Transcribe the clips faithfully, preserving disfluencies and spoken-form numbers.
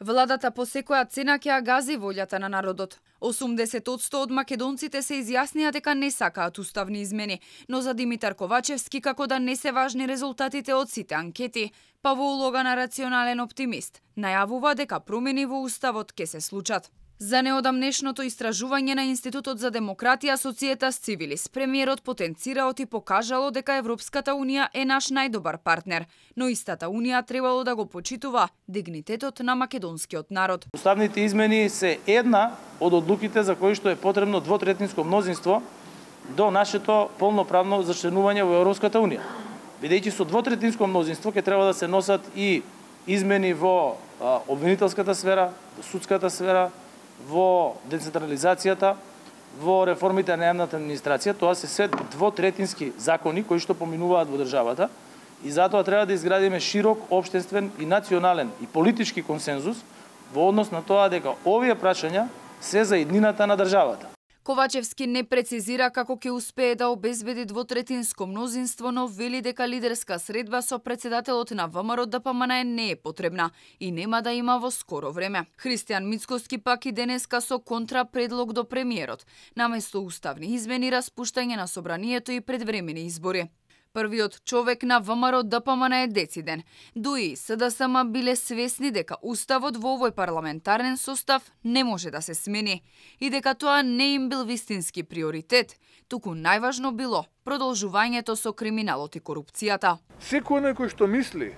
Владата по секоја цена ќе ја гази волјата на народот. осумдесет одсто од македонците се изјаснија дека не сакаат уставни измени, но за Димитар Ковачевски како да не се важни резултатите од сите анкети, па во улога на рационален оптимист, најавува дека промени во уставот ќе се случат. За неодамнешното истражување на Институтот за демократија Societas Civilis, премиерот потенцирало и покажало дека Европската Унија е наш најдобар партнер, но истата Унија требало да го почитува дигнитетот на македонскиот народ. Уставните измени се една од одлуките за кои што е потребно двотретинско мнозинство до нашето полноправно зачленување во Европската Унија. Бидејќи со двотретинско мнозинство ќе треба да се носат и измени во обвинителската сфера, во судската сфера, во децентрализацијата, во реформите на јавната администрација. Тоа се се двотретински закони кои што поминуваат во државата и затоа треба да изградиме широк општествен и национален и политички консензус во однос на тоа дека овие прашања се за иднината на државата. Ковачевски не прецизира како ќе успее да обезбеди двотретинско мнозинство, но вели дека лидерска средба со председателот на ВМРО Д П М Н не е потребна и нема да има во скоро време. Христијан Мицкоски пак и денеска со контрапредлог до премиерот, наместо уставни измени, распуштање на собранието и предвремени избори. Првиот човек на ВМРО Д П М Н е дециден. Дуи С Д С М биле свесни дека уставот во овој парламентарен состав не може да се смени и дека тоа не им бил вистински приоритет, туку најважно било продолжувањето со криминалот и корупцијата. Секој кој што мисли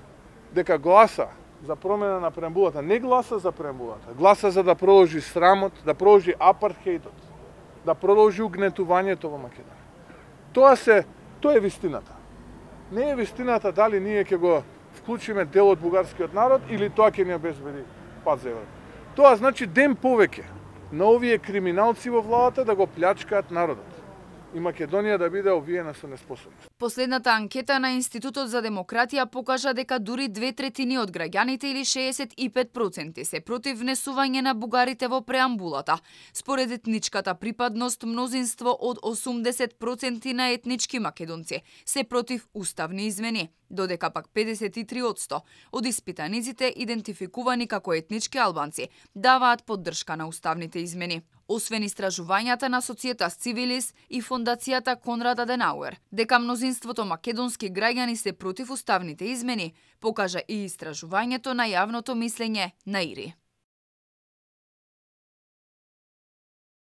дека гласа за промена на преамбулата, не гласа за преамбулата, гласа за да продолжи срамот, да продолжи апартхејдот, да продолжи угнетувањето во Македонија. Тоа се, тоа е вистината. Не е вистината дали ние ќе го вклучиме дел од бугарскиот народ или тоа ќе ни обезбеди пат за Европа. Тоа значи ден повеќе на овие криминалци во владата да го плячкаат народот и Македонија да биде обвиена со неспособност. Последната анкета на Институтот за демократија покажа дека дури две третини од граѓаните или шеесет и пет проценти се против внесување на бугарите во преамбулата. Според етничката припадност, мнозинство од осумдесет проценти на етнички македонци се против уставни измени, додека пак педесет и три одсто од испитаниците идентификувани како етнички албанци даваат поддршка на уставните измени. Освен истражувањата на Societas Civilis и Фондацијата Конрад Аденауер, дека мнозинството македонски граѓани се против уставните измени, покажа и истражувањето на јавното мислење на ИРИ.